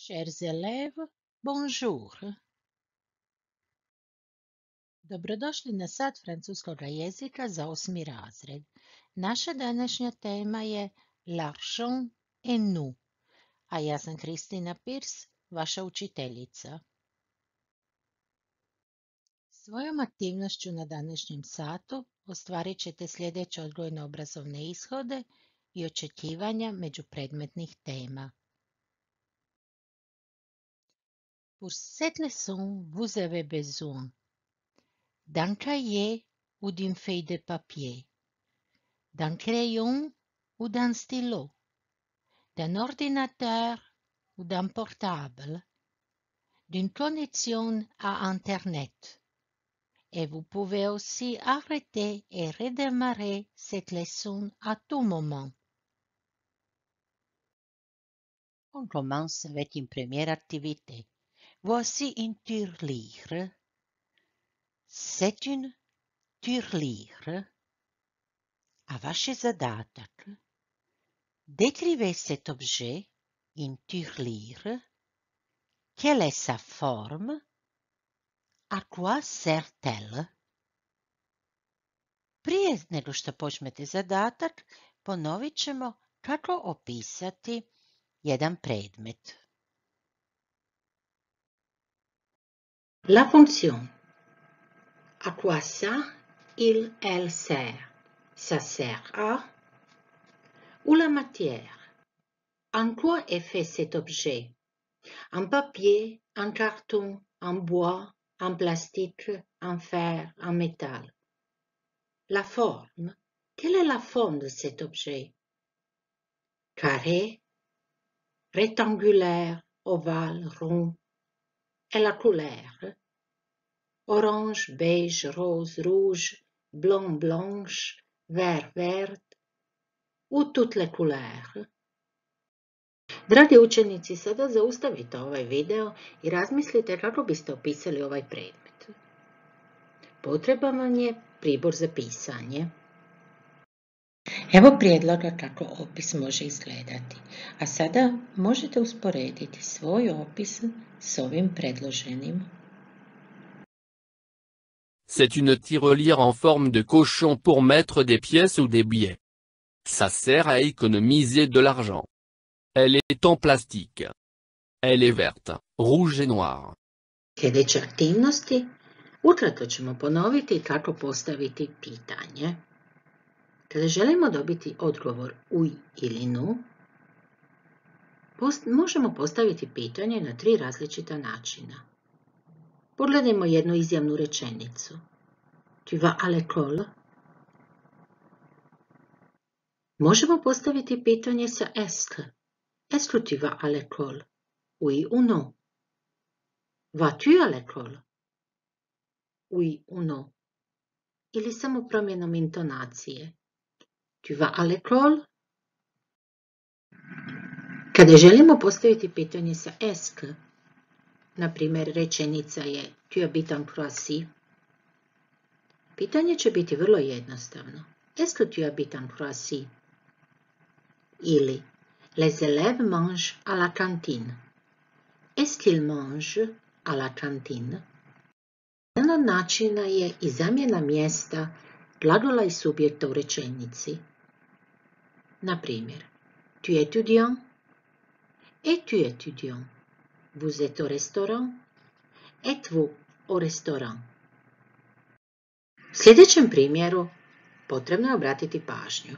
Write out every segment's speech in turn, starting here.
Chers élèves, bonjour. Dobrodošli na sat francuskog jezika za 8. razred. Naša današnja tema je L'argent et nous, a ja sam Kristina Pirs, vaša učiteljica. Svojom aktivnošću na današnjem satu ostvarit ćete sljedeće odgojno-obrazovne ishode i očekivanja međupredmetnih tema. Pour cette leçon, vous avez besoin d'un cahier ou d'une feuille de papier, d'un crayon ou d'un stylo, d'un ordinateur ou d'un portable, d'une connexion à Internet. Et vous pouvez aussi arrêter et redémarrer cette leçon à tout moment. On commence avec une première activité. Voici une tirelire. C'est une tirelire. A vaš je zadatak. Décrivez cet objet, une tirelire. Quelle est sa forme? À quoi sert-elle? Prije nego što počnete zadatak, ponovit ćemo kako opisati jedan predmet. La fonction. À quoi ça, elle sert? Ça sert à? Ou la matière. En quoi est fait cet objet? En papier, en carton, en bois, en plastique, en fer, en métal. La forme. Quelle est la forme de cet objet? Carré, rectangulaire, ovale, rond. Et la couleur? Orange, beige, rose, rouge, blanc, blanche, vert, vert. Ou toutes les couleurs. Dragi učenici, sada zaustavite ovaj video i razmislite kako biste opisali ovaj predmet. Potreban vam je pribor za pisanje. Evo prijedloga kako opis može izgledati, a sada možete usporediti svoj opis s ovim predloženim. C'est une tirelire en forme de cochon pour mettre des pièces ou des billets. Ça sert à économiser de l'argent. Elle est en plastique. Elle est verte, rouge et noire. Sljedeće aktivnosti. Ukratko ćemo ponoviti kako postaviti pitanje. Kada želimo dobiti odgovor uj ili nu, možemo postaviti pitanje na 3 različita načina. Pogledajmo jednu izjavnu rečenicu. Tu vas à l'école? Možemo postaviti pitanje sa est. Est-ce que tu vas à l'école? Oui ou non? Vas-tu à l'école? Oui ou non? Ili samo promjenom intonacije. Tu vas à l'école? Kada želimo postaviti pitanje sa est, na primjer rečenica je tu habites en Croatie, pitanje će biti vrlo jednostavno. Est-ce que tu habites en Croatie? Ili les élèves mangent à la cantine. Est-ce qu'ils mangent à la cantine? Jedan od načina je i zamjena mjesta glagola i subjekta u rečenici. Na primjer, tu es étudiant? Es-tu étudiant? Vous êtes au restaurant? Êtes-vous au restaurant? U sljedećem primjeru potrebno je obratiti pažnju.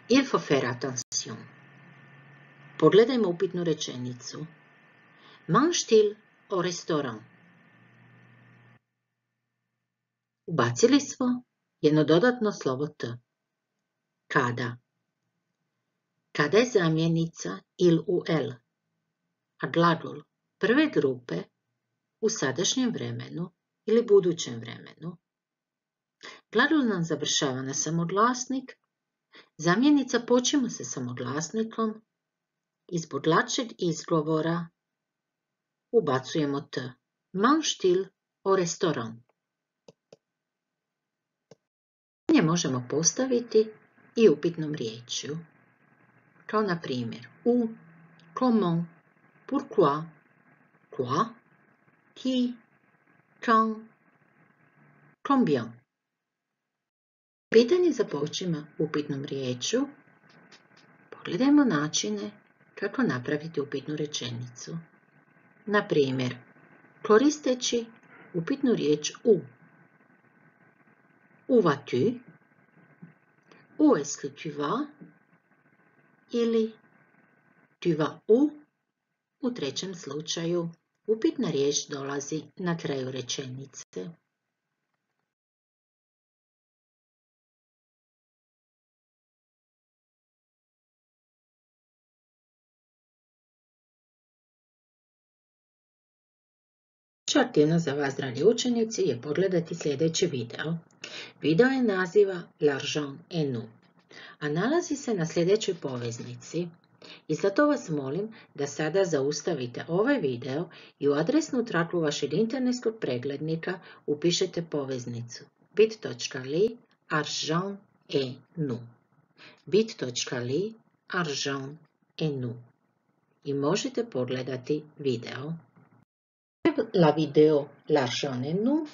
Il faut faire attention. Pogledajmo upitnu rečenicu. Mange-t-il au restaurant? Ubacili smo jedno dodatno slovo t. Kada? Kada je zamjenica il u el, a glagol prve grupe u sadašnjem vremenu ili budućem vremenu. Glagol nam završava na samoglasnik, zamjenica počima sa samoglasnikom i zbog lakšeg izgovora ubacujemo t. Mange-t-il au restaurant? Pitanje možemo postaviti i upitnom riječju, kao na primjer comment, Pourquoi? Quoi? Qui? Quand? Combien? Pitanje započima upitnom riječju. Pogledajmo načine kako napraviti upitnu rečenicu. Na primjer, koristeći upitnu riječ u. Où vas-tu? Où est-ce que tu vas? Ili tu vas où? U trećem slučaju upitna riječ dolazi na kraju rečenice. Aktivnost za vas, dragi učenici, je pogledati sljedeći video. Video je naziva L'argent est nous, a nalazi se na sljedećoj poveznici. I zato vas molim da sada zaustavite ovaj video i u adresnu traku vašeg internetskog preglednika upišete poveznicu bit.ly argent est nous. bit.ly argent est nous. I možete pogledati video. La vidéo L'argent est nous,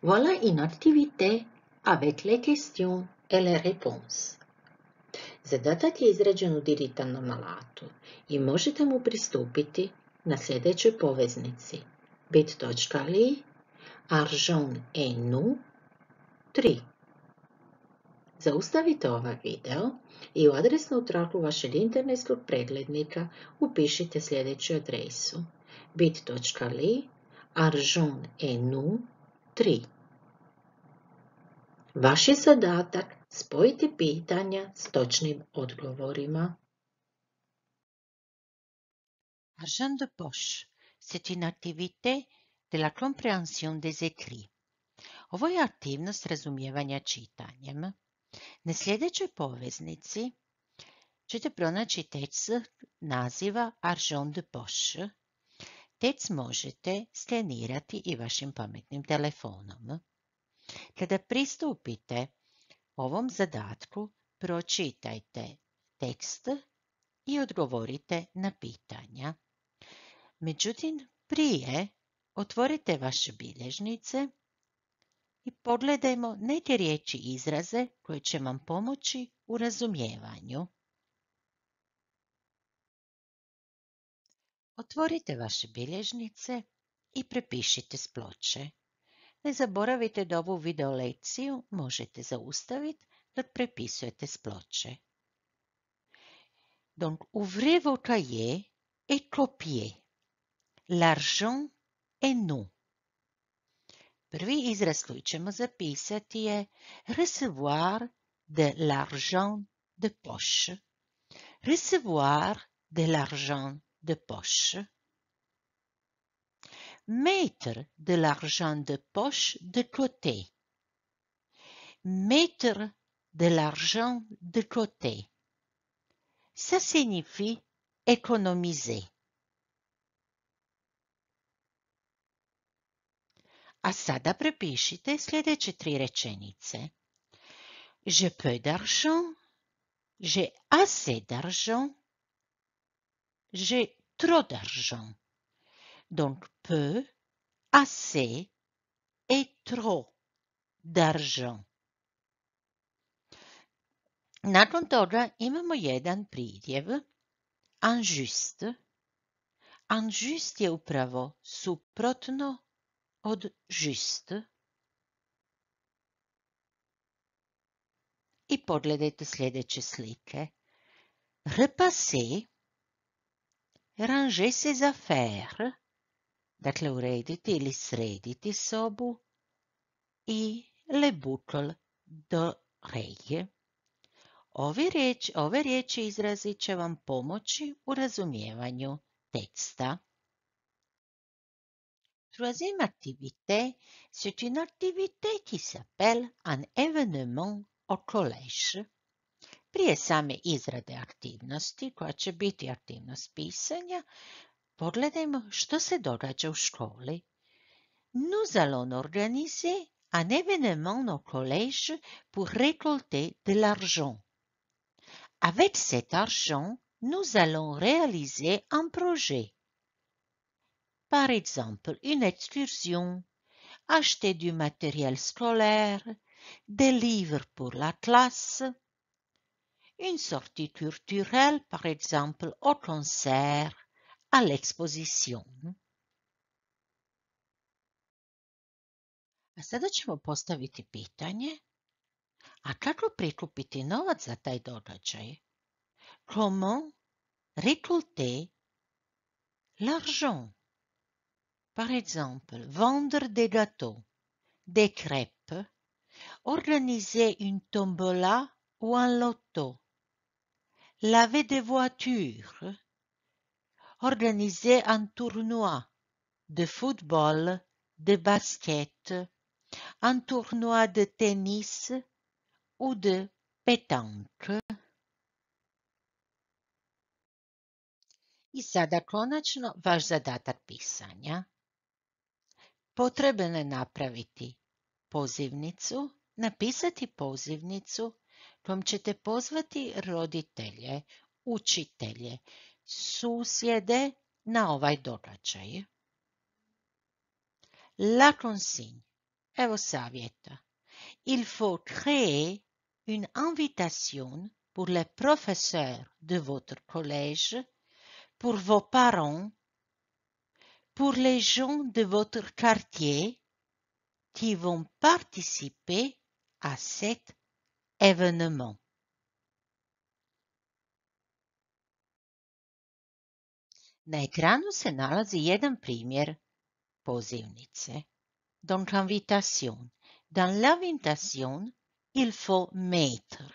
voilà une activité avec les questions et les réponses. Zadatak je izrađen u digitalnom alatu i možete mu pristupiti na sljedećoj poveznici bit.ly argent est nous 3. Zaustavite ovaj video i u adresnu traku vašeg internetskog preglednika upišite sljedeću adresu bit.ly argent est nous 3. Vaš je zadatak spojiti pitanja s točnim odgovorima. Argent de poche, c'est une activité de la compréhension des écrits. Ovo je aktivnost razumijevanja čitanjem. Na sljedećoj poveznici ćete pronaći tekst naziva Argent de poche. Tekst možete skenirati i vašim pametnim telefonom. Kada pristupite ovom zadatku, pročitajte tekst i odgovorite na pitanja. Međutim, prije otvorite vaše bilježnice i pogledajmo neke riječi i izraze koje će vam pomoći u razumijevanju. Otvorite vaše bilježnice i prepišite s ploče. Ne zaboravite da ovu video lekciju možete zaustaviti dok prepisujete s ploče. Donc, ouvrez vos cahiers et copiez. L'argent est nous. Prvi izraz koji ćemo zapisati je recevoir de l'argent de poche. Recevoir de l'argent de poche. Mettre de l'argent de poche de côté. Mettre de l'argent de côté. Ça signifie économiser. A sada prepišite sljedeće 3 rečenice. Je peu d'argent. J'ai assez d'argent. J'ai trop d'argent. Donc peu, assez et trop d'argent. Nakon toga imamo jedan pridjev, injuste. Injuste je upravo suprotno od juste. I pogledajte sljedeće slike. Repasser, ranger ses affaires, dakle urediti ili srediti sobu, i le boucle d'oreille. Ove riječi izrazi će vam pomoći u razumijevanju teksta. Troisième activité, c'est une activité qui s'appelle un événement au collège. Prije same izrade aktivnosti, koja će biti aktivnost pisanja, pogledajmo što se događa u školi. Nous allons organiser un événement au collège pour récolter de l'argent. Avec cet argent, nous allons réaliser un projet. Par exemple, une excursion, acheter du matériel scolaire, des livres pour la classe, une sortie culturelle, par exemple au concert, à l'exposition. A sada ćemo postaviti pitanje, a kako prikupiti novac za taj događaj? Comment récolter l'argent? Par exemple, vendre des gâteaux, des crêpes, organiser une tombola ou un loto, laver des voitures, organiser un tournoi de football, de basket, un tournoi de tennis ou de pétanque. I sada konačno vaš zadatak pisanja. Potrebno je napraviti pozivnicu, napisati pozivnicu kojom ćete pozvati roditelje, učitelje, susjede na ovaj događaj. La consigne. Evo savjeta. Il faut créer une invitation pour les professeurs de votre collège, pour vos parents, pour les gens de votre quartier qui vont participer à cet événement. Na ekranu se nalazi jedan primjer pozivnice. Donc invitation. Dans l'invitation, il faut mettre.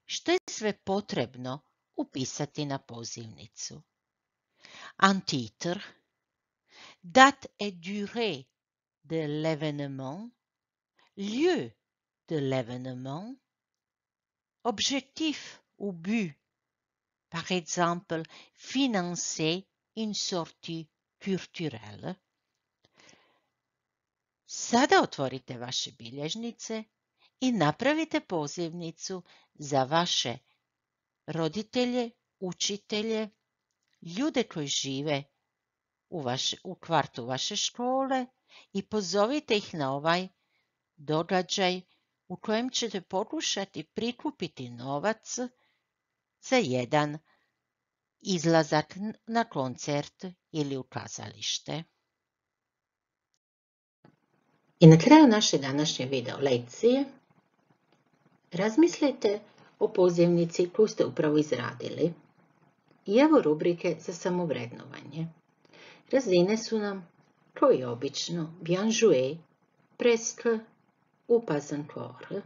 Što je sve potrebno upisati na pozivnicu? Un titre, date et durée de l'événement, lieu de l'événement, objectif ou but, par exemple, financer une sortie culturelle. Sada otvorite vaše bilježnice i napravite pozivnicu za vaše roditelje, učitelje, ljude koji žive u kvartu vaše škole i pozovite ih na ovaj događaj u kojem ćete pokušati prikupiti novac za jedan izlazak na koncert ili u kazalište. I na kraju naše današnje video lekcije razmislite o pozivnici koju ste upravo izradili. I evo rubrike za samovrednovanje. Razine su nam, kao i obično, bien joué, presque ou pas encore.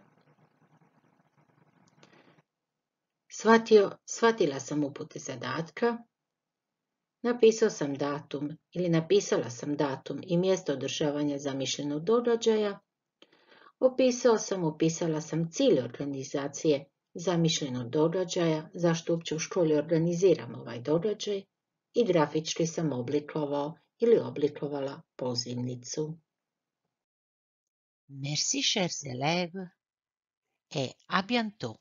Shvatila sam upute zadatka, napisao sam datum ili napisala sam datum i mjesto održavanja zamišljenog događaja, opisala sam cilj organizacije zamišljenog događaja, zašto uopće u školi organiziramo ovaj događaj i grafički sam oblikovao ili oblikovala pozivnicu. Merci chers élèves et à bientôt.